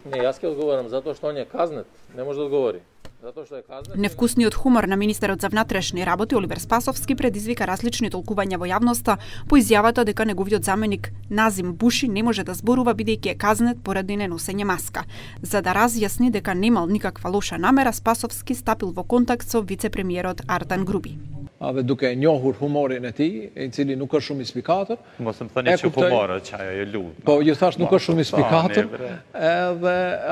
Не, јас ќе одговорам затоа што он е казнет, не може да одговори. Затоа што е казнет. Невкусниот хумор на министерот за внатрешни работи Оливер Спасовски предизвика различни толкувања во јавноста по изјавата дека неговиот заменик Назим Буши не може да зборува бидејќи е казнет поради неносење маска. За да разјасни дека немал никаква лоша намера, Спасовски стапил во контакт со вице-премиерот Артан Груби. Duke e njohur humorin e tij, I cili nuk është shumë i spikator. Mos më thoni që humor që ajo e lut. Po, ju thash nuk është shumë i spikator. Edhe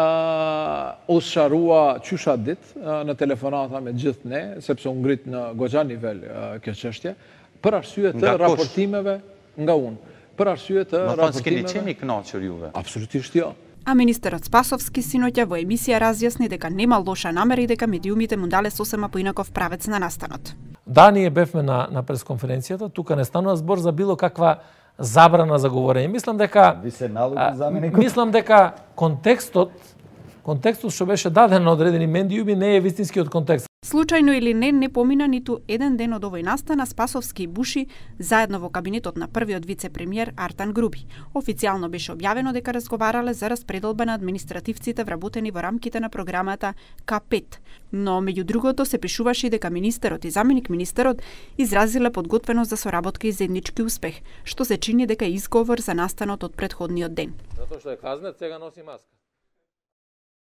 u sharrua qysha ditë në telefonata me gjithë ne, sepse u ngrit në goxha nivel kjo çështje, për arsye të raportimeve nga unë. Për arsye të raportimeve. Më s'keni qenë I kënaqur juve. Absolutisht jo. А министерот Спасовски синоќа во емисија разјасни дека нема лоша намера и дека медиумите му дале сосема поинаков правец на настанот. Да, ние бевме на пресконференцијата, тука не станува збор за било каква забрана за говорење. Мислам дека контекстот што беше даден на одредени медиуми не е вистинскиот контекст. Случајно или не помина ниту еден ден од овој настан, Спасовски и Буши заедно во кабинетот на првиот вице-премиер Артан Груби. Официјално беше објавено дека разговарале за распределба на административците вработени во рамките на програмата К5. Но меѓу другото се пишуваше и дека министерот и заменик министерот изразиле подготвеност за соработка и заеднички успех, што се чини дека е изговор за настанот од претходниот ден. Затоа што е казнет, сега носи маска.